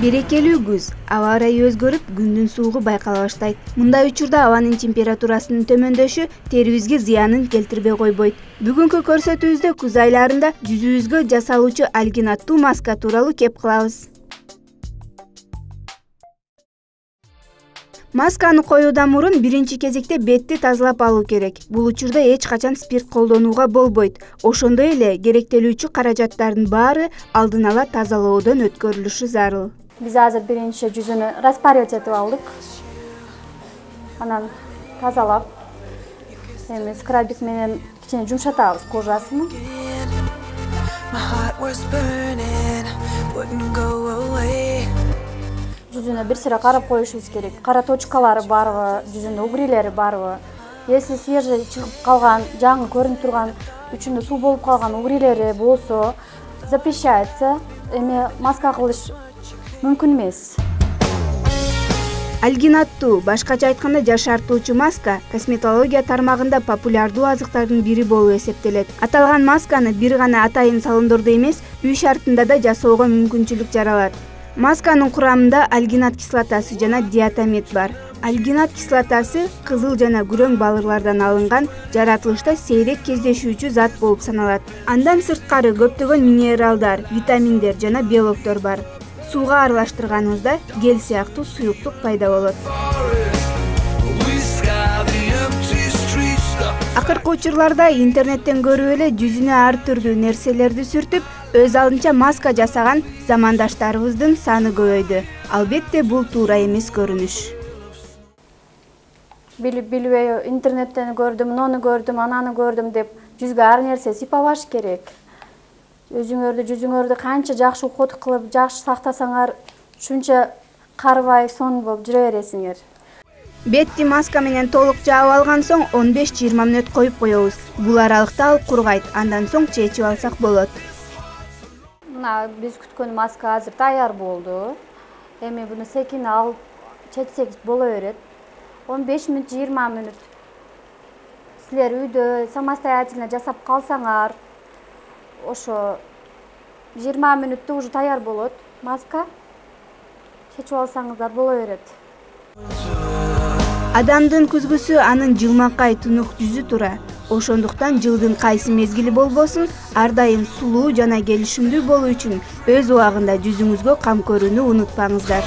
Берекелүү күз, аба ырайы өзгөрүп, күндүн суугу байкала баштайт. Мындай учурда абанын температурасынын төмөндөшү терибизге зыянын келтирбей койбойт. Бүгүнкү көрсөтүүбүздө күз айларында жүзүбүзгө жасалуучу Algin аттуу маска тууралуу кеп кылабыз. Масканы коюудан мурун биринчи кезекте бетти тазалап алуу керек. Бул учурда эч качан спирт колдонууга болбойт. Ошондой эле керектелүүчү каражаттардын баары алдын ала тазалоодон өткөрүлүшү зарыл. Биз азыр биринчи жүзүнү распарёт этип алдык. Анан тазалап, эми скрабик менен кичине жумшатабыз кожасын. Жүзүнө бир сыра карап коюшубуз керек. Кара точкалары барбы, жүзүндө угрилери барбы? Если свежий чыгып калган, жаңы көрүнүп турган, үчүндө суу болуп калган угрилери болсо, запрещается. Эми маска кылыш мүмкүн эмес. Algin аттуу, башкача айтканда жашартуучу маска косметология тармагында популярдуу азыктардын бири болуп эсептелет. Аталган масканы бир гана атайын салондордо эмес, үй шартында да жасоого мүмкүнчүлүк жаралат. Масканын курамында альгинат кислотасы жана диатамид бар. Альгинат кислотасы кызыл жана күрөң балырлардан алынган жаратылышта сейрек кездешүүчү зат болуп саналат. Андан сырткары көптөгөн минералдар, витаминдер жана белоктор бар. Сууга аралаштырганыбызда гель сыяктуу суюктук пайда болот. Акыркы учурларда интернеттен көрүп эле жүзүнө ар түрдүү нерселерди сүртүп, өз алдынча маска жасаган замандаштарыбыздын саны көбөйдү. Албетте бул туура эмес көрүнүш. Билбей интернеттен көрдүм, муну көрдүм, ананы көрдүм деп жүзгө ар нерсе сыйпабаш керек. Өзүңөрдү, жүзүңөрдү канча жакшы уход кылып, жакшы сактасаңар, шунча карыбай, сон болуп жүрө бересиңер. Бетти маска менен толук жаап алган соң 15-20 мүнөт коюп коебуз. Бул аралыкта ал кургайт, андан соң чечип алсак болот. Мына биз күткөн маска азыр даяр болду. Эми буну секин алып чечсек боло берет. 15 мүнөт, 20 мүнөт. Силер үйдө самостоятельно жасап калсаңар, ошо 20 мүнөттө уже даяр болот маска. Чечип алсаңыздар боло берет. Адамдын күзгүсү анын жылмакай тунук жүзү тура. Ошондуктан жылдын кайсы мезгили болбосун, ар дайым сулуу жана келишимдүү болуу үчүн өз убагында жүзүңүзгө кам көрүүнү унутпаңыздар.